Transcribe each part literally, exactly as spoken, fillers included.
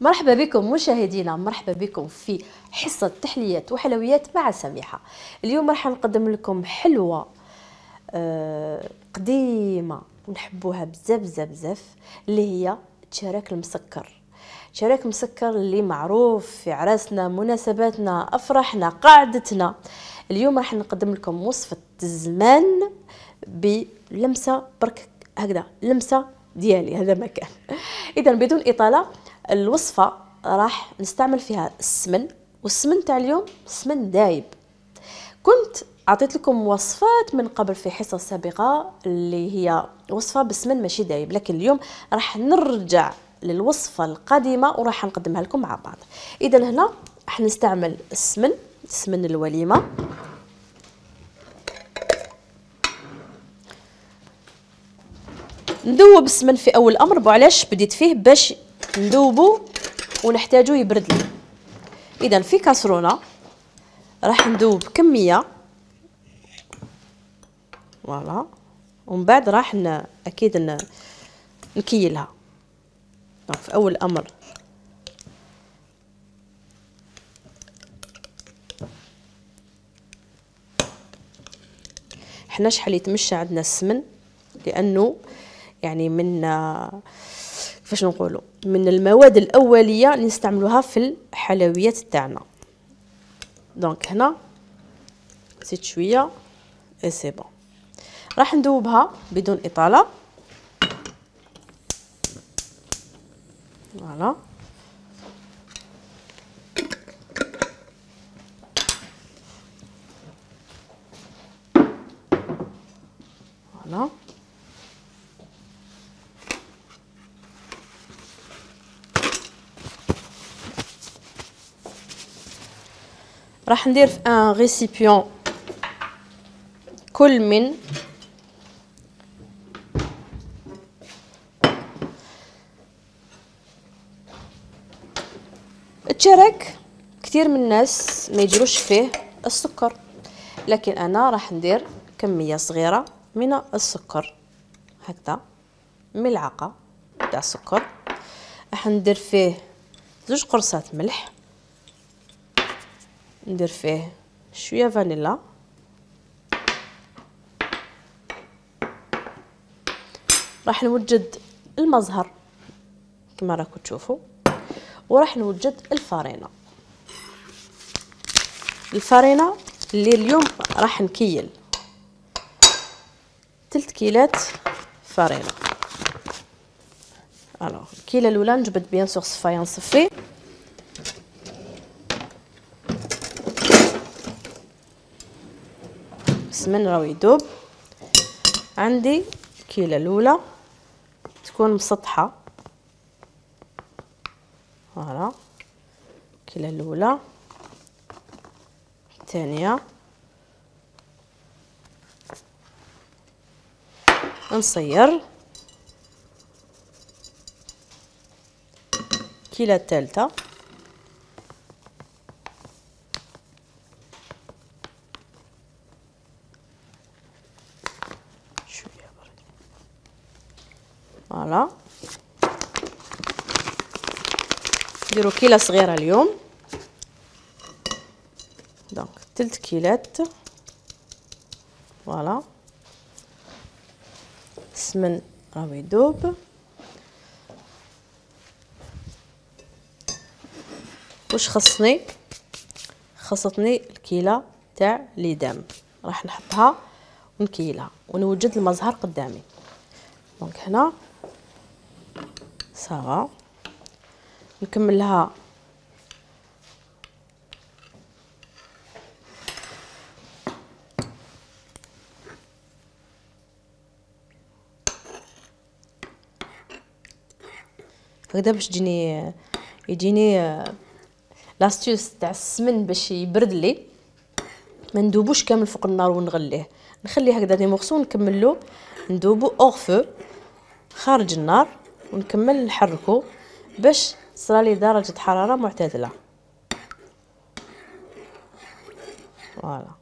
مرحبا بكم مشاهدينا، مرحبا بكم في حصة تحليات وحلويات مع سميحة. اليوم راح نقدم لكم حلوة آه قديمة ونحبوها بزاف بزاف بزاف، اللي هي الشراك المسكر. شراك مسكر اللي معروف في عراسنا، مناسباتنا، افراحنا، قعدتنا. اليوم راح نقدم لكم وصفة الزمان بلمسة برك هكذا، لمسة ديالي هذا مكان. اذا بدون اطالة، الوصفة راح نستعمل فيها السمن، والسمن تاع اليوم سمن دايب. كنت عطيت لكم وصفات من قبل في حصص سابقة اللي هي وصفة بالسمن ماشي دايب، لكن اليوم راح نرجع للوصفة القديمة وراح نقدمها لكم مع بعض. اذا هنا راح نستعمل السمن، سمن الوليمة. ندوب السمن في اول امر، وعلاش بديت فيه؟ باش ندوبو ونحتاجو يبرد لي. اذا في كاسرونه راح ندوب كميه، فوالا، ومن بعد راح ن... اكيد ن... نكيلها. دونك في اول امر حنا شحال يتمشى عندنا السمن، لانه يعني من فاش نقولوا من المواد الاوليه اللي نستعملوها في الحلويات تاعنا. دونك هنا زيد شويه اي سي بون. راح ندوبها بدون اطاله، فوالا. فوالا راح ندير في ان ريسيبيون كل من الشرك. كثير من الناس ما يديروش فيه السكر، لكن انا راح ندير كميه صغيره من السكر، هكذا ملعقه تاع السكر. راح ندير فيه زوج قرصات ملح، ندير فيه شويه فانيلا، راح نوجد المزهر كما راكم تشوفوا، وراح نوجد الفارينه. الفارينه اللي اليوم راح نكيل ثلاث كيلات فارينه. الوغ الكيله الاولى نجبد بيان سور صفايه نصفي، السمن راهو يذوب. عندي الكيله الاولى تكون مسطحه، فوالا، الكيله الاولى، الثانيه، نصير الكيله الثالثه، شويه برك، فوالا. نديرو كيله صغيره اليوم، دونك ثلاث كيلات، فوالا. السمن راهو يذوب، واش خصني؟ خصتني الكيله تاع ليدام، راح نحطها ونكيلها ونوجد المزهر قدامي. دونك هنا صافا، نكملها هكذا باش تجيني يجيني لاستيوس تاع السمن باش يبرد لي. ما ندوبوش كامل فوق النار ونغليه، نخليه هكذا دي مورسو، نكملو ندوبو اور فو خارج النار، ونكمل نحركو باش تصرالي درجه حراره معتدله، فوالا.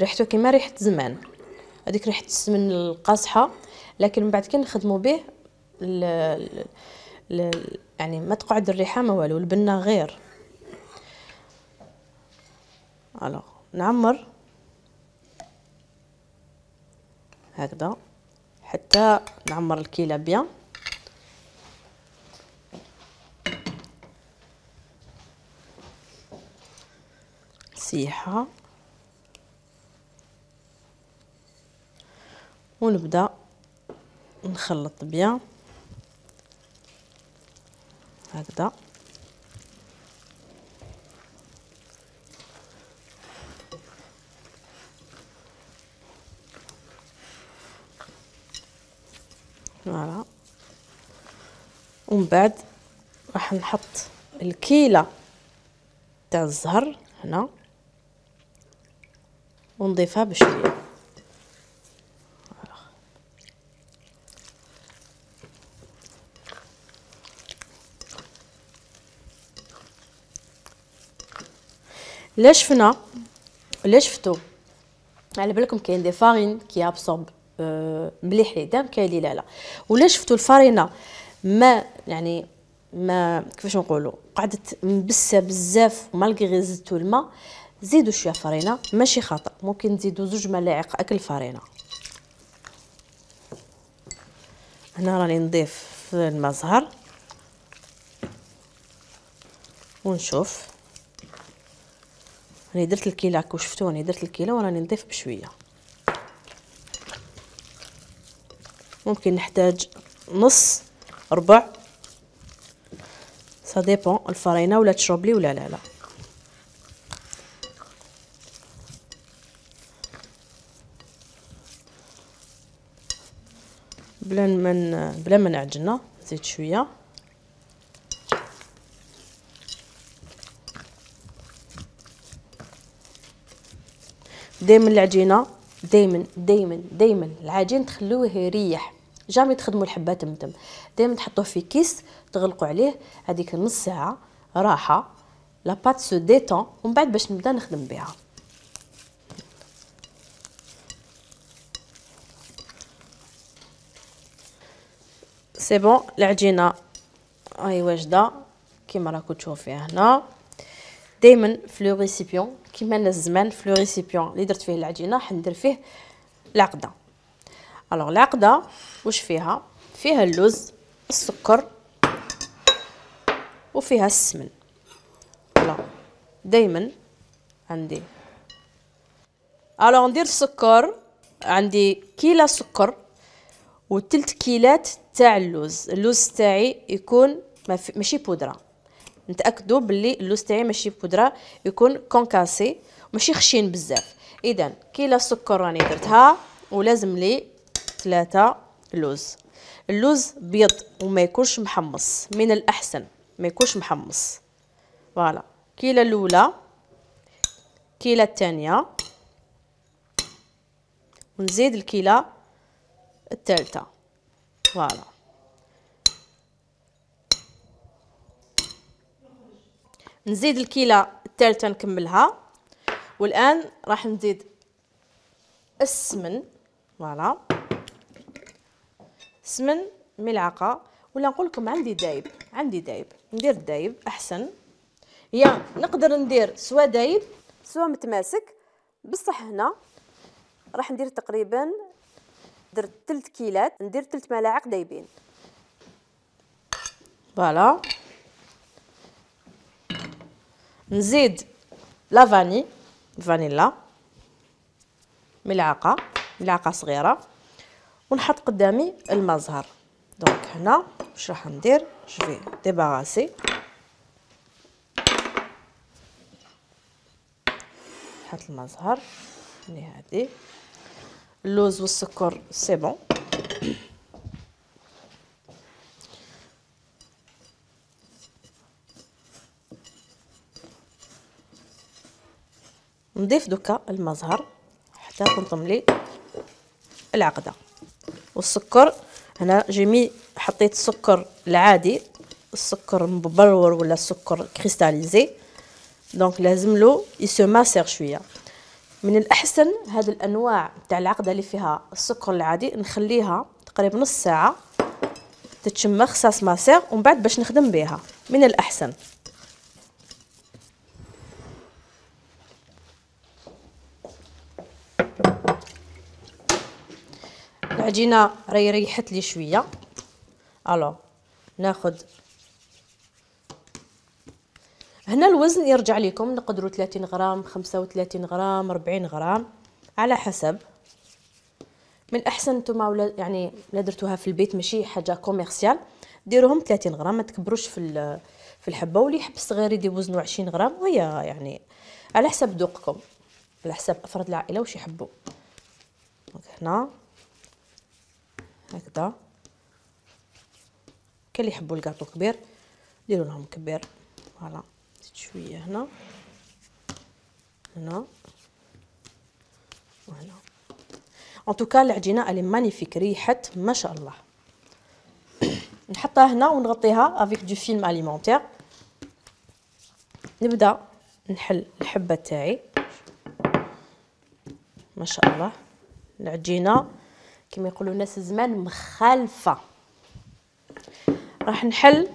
ريحته كيما ريحه زمان، هذيك ريحه السمن القاصحه، لكن من بعد كي نخدموا به ل... ل... يعني ما تقعد الريحه ما والو، البنه غير. الوغ نعمر هكذا حتى نعمر الكيله بيان. سيحه ونبدا نخلط بيان هكذا. فوالا ومن بعد راح نحط الكيله تاع الزهر هنا ونضيفها بشويه. لا شفنا لا شفتو على بالكم كاين دي فارين كي ابسورب مليح لي دام، كاين لي لا لا. ولا شفتوا الفارينه ما يعني ما كيفاش نقولوا قعدت مبسه بزاف ومالغي غير زدتوا الماء، زيدوا شويه فرينه ماشي خطا، ممكن تزيدوا زوج ملاعق اكل فرينه. هنا راني نضيف في الماء زهر ونشوف. راني درت الكيله كو شفتوا، راني درت الكيله وراني نضيف بشويه. ممكن نحتاج نص ربع، سا ديبون الفرينه ولا تشرب لي ولا لا لا. بلا ما بلا ما نعجنها زيد شويه. دائما العجينه دائما دائما دائما العجين تخلوه يريح، جامي تخدموا الحبه تمتم، دائما تحطوه في كيس تغلقوا عليه هذيك نص ساعه راحه لا بات سو ديتون، ومن بعد باش نبدا نخدم بها. سي بون العجينه هاي واجده كيما راكم تشوفوا فيها هنا. دائما في لو ريسيبيون كيما انا الزمان في لو ريسيبيون اللي درت فيه العجينه حندير فيه العقده. الوغ العقده واش فيها؟ فيها اللوز، السكر، وفيها السمن. فوالا دائما عندي الوغ ندير السكر، عندي كيلة سكر وثلث كيلات تاع اللوز. اللوز تاعي يكون ماشي بودره، نتاكدوا باللي اللوز تاعي ماشي بودره، يكون كونكاسي ماشي خشين بزاف. اذا كيلة سكر راني درتها، ولازم لي ثلاثة لوز. اللوز بيض وما يكونش محمص، من الاحسن ما يكونش محمص. فوالا كيلة الاولى، كيلة الثانيه، ونزيد الكيلة الثالثه. فوالا نزيد الكيلة الثالثه نكملها. والان راح نزيد السمن. فوالا السمن ملعقه، ولا نقول لكم عندي دايب، عندي دايب ندير دايب احسن. يا نقدر ندير سوا دايب سوا متماسك، بصح هنا راح ندير تقريبا درت ثلث كيلات، ندير ثلث ملاعق دايبين. فوالا نزيد لا فاني فانيلا ملعقه ملعقه صغيره، ونحط قدامي الماء زهر. دونك هنا واش راح ندير؟ جو ديباراسي، نحط الماء زهر اللي هادي، اللوز والسكر سي بون. نضيف دوكا الماء زهر حتى تنظم لي العقده. والسكر هنا جيمي حطيت السكر العادي، السكر مبرور ولا السكر كريستاليزي، دونك لازم له يسو ماسير شويه. من الاحسن هذه الانواع تاع العقده اللي فيها السكر العادي نخليها تقريبا نص ساعه تتشمخ ساس ماسير، ومن بعد باش نخدم بها من الاحسن. العجينه راهي ريحت لي شويه. الو ناخذ هنا الوزن يرجع لكم، نقدروا ثلاثين غرام، خمسة وثلاثين غرام، أربعين غرام على حسب. من احسن نتوما ولا يعني لا درتوها في البيت ماشي حاجه كوميرسيال ديروهم ثلاثين غرام، ما تكبروش في في الحبه، واللي يحب صغير يدير وزنه عشرين غرام، وهي يعني على حسب ذوقكم، على حسب افراد العائله واش يحبوا. هنا هكذا كاين اللي يحبوا الكاطو كبير ديروا لهم كبير. فوالا زيد شويه هنا هنا وهنا. ان توكا العجينه الي مانيفيك، ريحت ما شاء الله. نحطها هنا ونغطيها افيك دو فيلم اليمونتير. نبدا نحل الحبه تاعي ما شاء الله. العجينه كما يقولوا الناس زمان مخالفه. راح نحل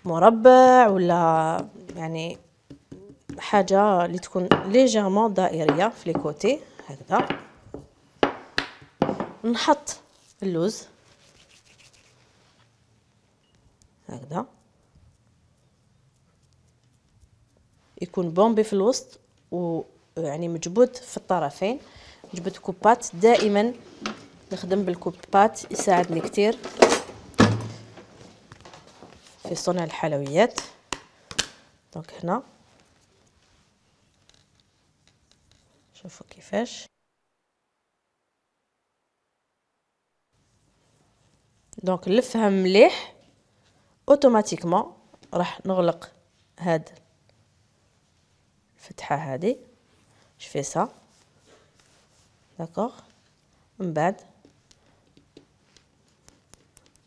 مربع ولا يعني حاجه اللي تكون ليجيرمون دائريه في لي كوتي هكذا. نحط اللوز هكذا يكون بومبي في الوسط ويعني مجبود في الطرفين. جبت كوبات، دائما نخدم بالكوبات يساعدني كتير في صنع الحلويات. دونك هنا شوفوا كيفاش. دونك نلفها مليح اوتوماتيكمون. راح نغلق هاد الفتحه هذه. جو في سا داكوغ. من بعد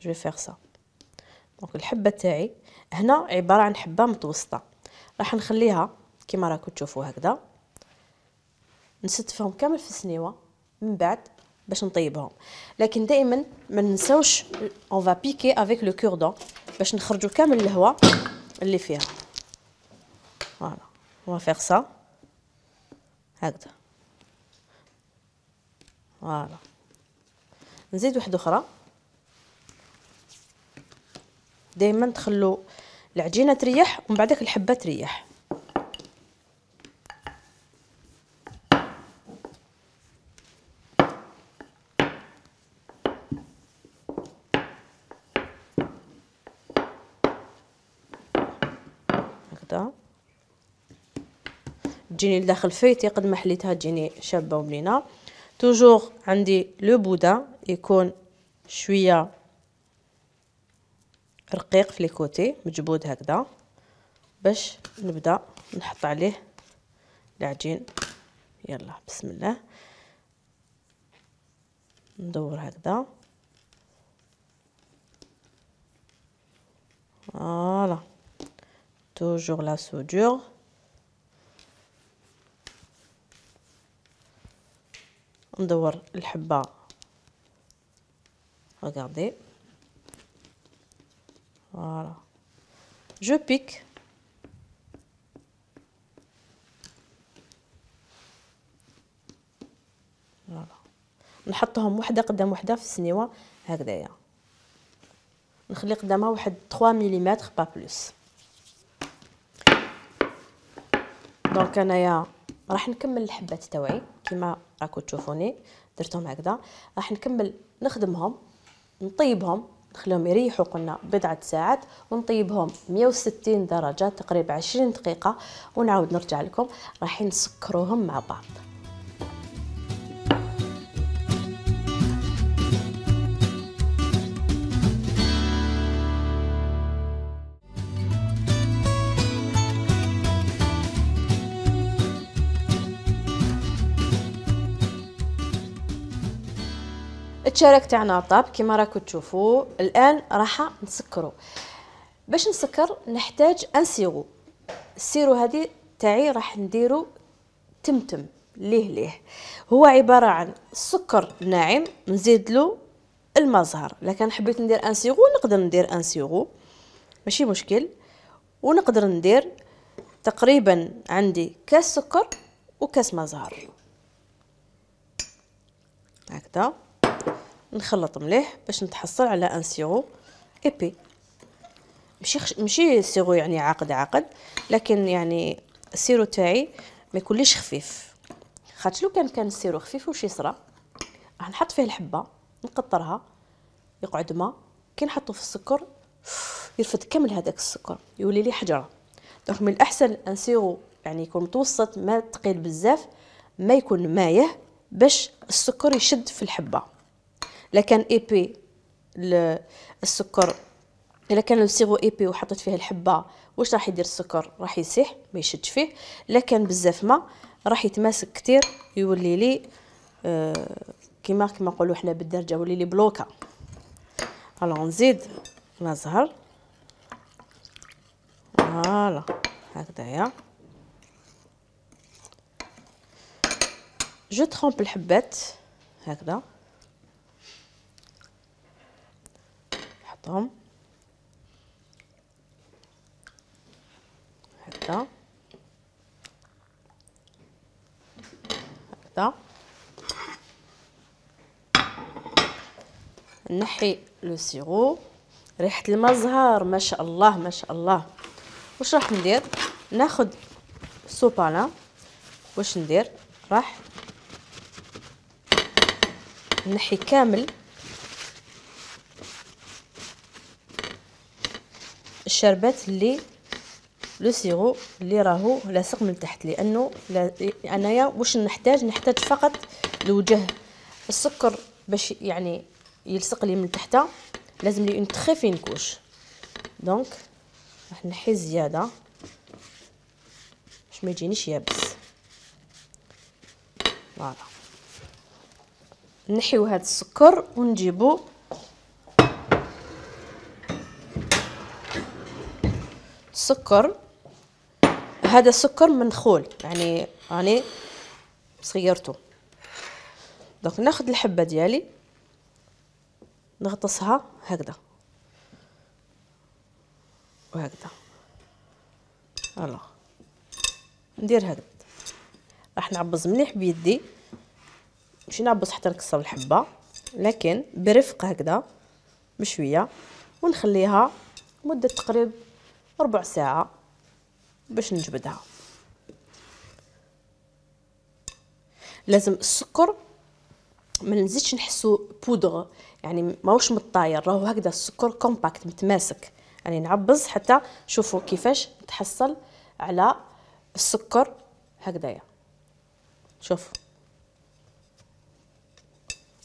جو فيغ سا. دونك الحبه تاعي هنا عباره عن حبه متوسطه، راح نخليها كيما راكم تشوفوا هكذا. نستفهم كامل في السنيوه من بعد باش نطيبهم. لكن دائما ما ننساوش اون فا بيكي افيك لو كوردون باش نخرجوا كامل الهواء اللي فيها. فوالا اون فيغ سا هكذا. فوالا نزيد واحده اخرى. دائما تخلوا العجينه تريح ومن بعدك الحبه تريح. هكذا تجيني لداخل فيتي قد ما حليتها تجيني شابه وبنينه. توجور عندي لو بودان يكون شويه رقيق في لي كوتي مجبود هكذا باش نبدا نحط عليه العجين. يلا بسم الله ندور هكذا. فوالا توجور لا سودور. ندور الحبه. regardez. Voilà. Je pique. Voilà. نحطهم وحده قدام وحده في السنيوه هكذايا. نخلي قدامها واحد ثلاثة مليمتر با بلوس. دونك انايا راح نكمل الحبات تاوعي كيما راكم تشوفوني درتهم هكذا. راح نكمل نخدمهم نطيبهم نخليهم يريحوا قلنا بضعه ساعات ونطيبهم مية وستين درجه تقريبا عشرين دقيقه ونعاود نرجع لكم. راح نسكروهم مع بعض. التشارك تاعنا طاب كيما راكم تشوفوا. الان راح نسكروا. باش نسكر نحتاج ان سيرو. السيرو هذه تاعي راح نديرو تمتم ليه ليه. هو عباره عن سكر ناعم نزيد له الماء زهر. لكن حبيت ندير ان سيرو نقدر ندير ان سيرو ماشي مشكل. ونقدر ندير تقريبا عندي كاس سكر وكاس ماء زهر هكذا. نخلط مليح باش نتحصل على ان سيرو ايبي. ماشي خش... ماشي سيرو يعني عاقد عاقد، لكن يعني السيرو تاعي ما يكونليش خفيف. خاطر لو كان كان السيرو خفيف واش يصرى؟ راح نحط فيه الحبه نقطرها يقعد ماء، كي نحطو في السكر يرفد كامل هذاك السكر يولي لي حجره. دونك من الاحسن ان سيرو يعني يكون متوسط، ما ثقيل بزاف، ما يكون مايه باش السكر يشد في الحبه. لكن ايبي السكر الا كان السيرو ايبي وحطيت فيه الحبه واش راح يدير؟ السكر راح يسيح ما يشدش فيه. لكن بزاف ما راح يتماسك كتير يولي لي آه كيما كيما نقولوا حنا بالدرجه يولي لي بلوكا. الو نزيد ماء زهر فوالا هكذايا. جو ترompe الحبات هكذا نحطهم هكذا هكذا. نحي لو سيرو. ريحه الماء زهر ما شاء الله ما شاء الله. واش راح ندير؟ ناخذ سوبانا. واش ندير؟ راح نحي كامل الشربات اللي لو سيرو اللي راهو لاصق من تحت، لانه انايا واش نحتاج؟ نحتاج فقط لوجه السكر باش يعني يلصق لي من تحت. لازم لي اون تري فين كوش. دونك راح نحي زياده باش ما يجينيش يابس. فوالا نحيو هذا السكر ونجيبو السكر. هذا سكر منخول يعني راني صغيرته. دونك ناخذ الحبه ديالي نغطسها هكذا وهكذا. فوالا ندير هكذا. راح نعبز مليح بيدي، ماشي نعبز حتى نكسر الحبه، لكن برفق هكذا بشويه. ونخليها مده تقريبا ربع ساعه باش نجبدها. لازم السكر ما نزيدش نحسو بودغ يعني ماهوش مطاير، راهو هكذا السكر كومباكت متماسك. يعني نعبز حتى شوفوا كيفاش نتحصل على السكر هكذايا. شوف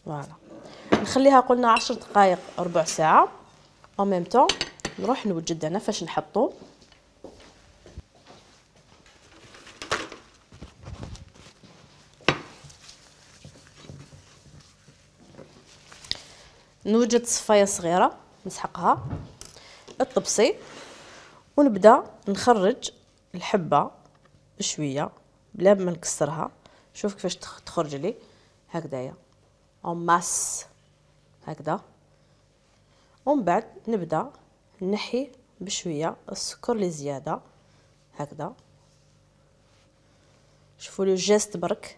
فوالا. نخليها قلنا عشر دقائق ربع ساعه. او ميم طون نروح نوجد هنا فاش نحطو. نوجد صفايه صغيره نسحقها الطبسي، ونبدا نخرج الحبه بشويه بلا ما نكسرها. شوف كيفاش تخرج لي هكذايا اون ماس هكذا. ومن بعد نبدا نحي بشويه السكر اللي زياده هكذا. شوفوا لو جيست برك.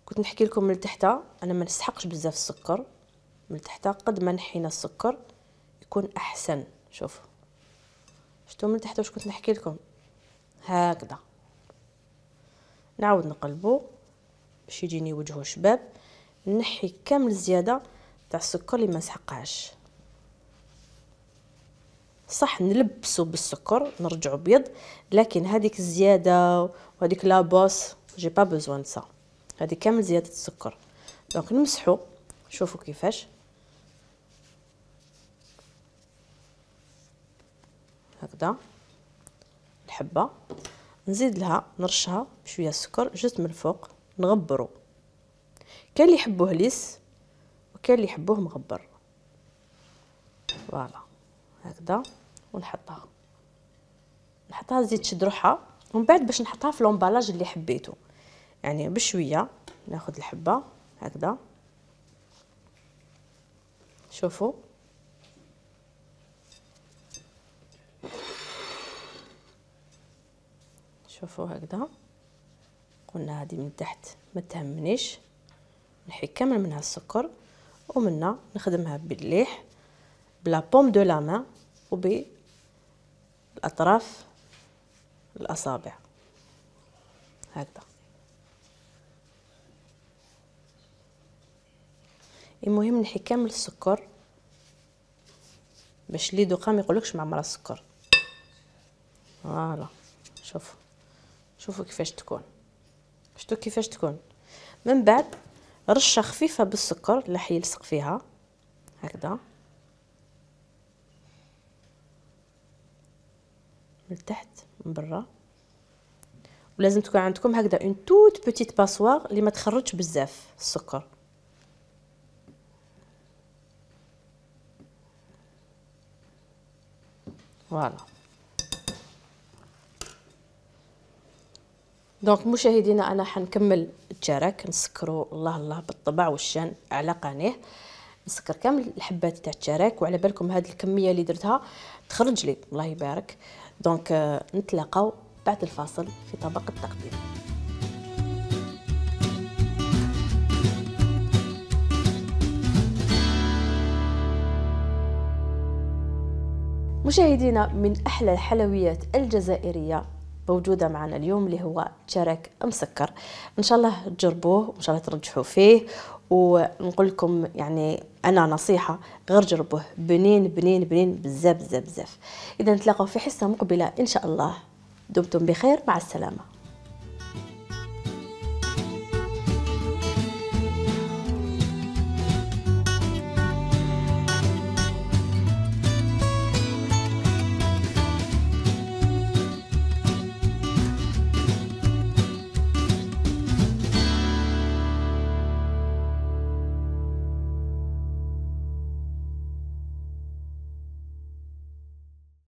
كنت نحكي لكم من تحت انا ما نسحقش بزاف السكر من تحت، قد ما نحينا السكر يكون احسن. شوفوا شفتوا من تحت واش كنت نحكي لكم هكذا. نعاود نقلبو باش يجيني وجهه شباب. نحي كامل زياده تاع السكر اللي ما نسحقهاش. صح نلبسو بالسكر نرجعو بيض، لكن هذيك الزياده وهذيك لابوس جي با بوزوان سا. هذه كامل زياده السكر. دونك نمسحو. شوفوا كيفاش هكذا الحبه. نزيد لها نرشها بشويه السكر جست من الفوق نغبرو. كاين اللي يحبوه ليس وكاين اللي يحبوه مغبر. فوالا هكذا. ونحطها نحطها زيد تشد روحها ومن بعد باش نحطها في لومبالاج اللي حبيته، يعني بشويه ناخذ الحبه هكذا. شوفوا شوفوا هكذا. قلنا هذه من تحت ما تهمنيش، نحي كامل منها السكر، ومنا نخدمها بالليح بلا بوم دو لا مان وبالاطراف الاصابع هكذا. المهم نحي كامل السكر باش اللي يذوقها ما يقولكش معمره السكر. فوالا شوفوا شوفوا كيفاش تكون، شفتوا كيفاش تكون. من بعد رشه خفيفه بالسكر اللي حيلصق فيها هكذا من تحت من برا. ولازم تكون عندكم هكذا اون توت بوتيت باسوار اللي ما تخرجش بزاف السكر. فوالا. دونك مشاهدينا انا حنكمل التشارك، نسكروا الله الله بالطبع والشان على قناه، نسكر كامل الحبات تاع التشارك. وعلى بالكم هذه الكميه اللي درتها تخرج لي الله يبارك. دونك آه نتلاقاو بعد الفاصل في طبق التقديم. مشاهدينا من احلى الحلويات الجزائريه موجوده معنا اليوم اللي هو تشارك مسكر. ان شاء الله تجربوه وان شاء الله ترجحوا فيه. ونقول لكم يعني انا نصيحه غير جربوه، بنين بنين بنين بزاف بزاف بزاف. اذا نتلاقاو في حصه مقبله ان شاء الله. دمتم بخير، مع السلامه.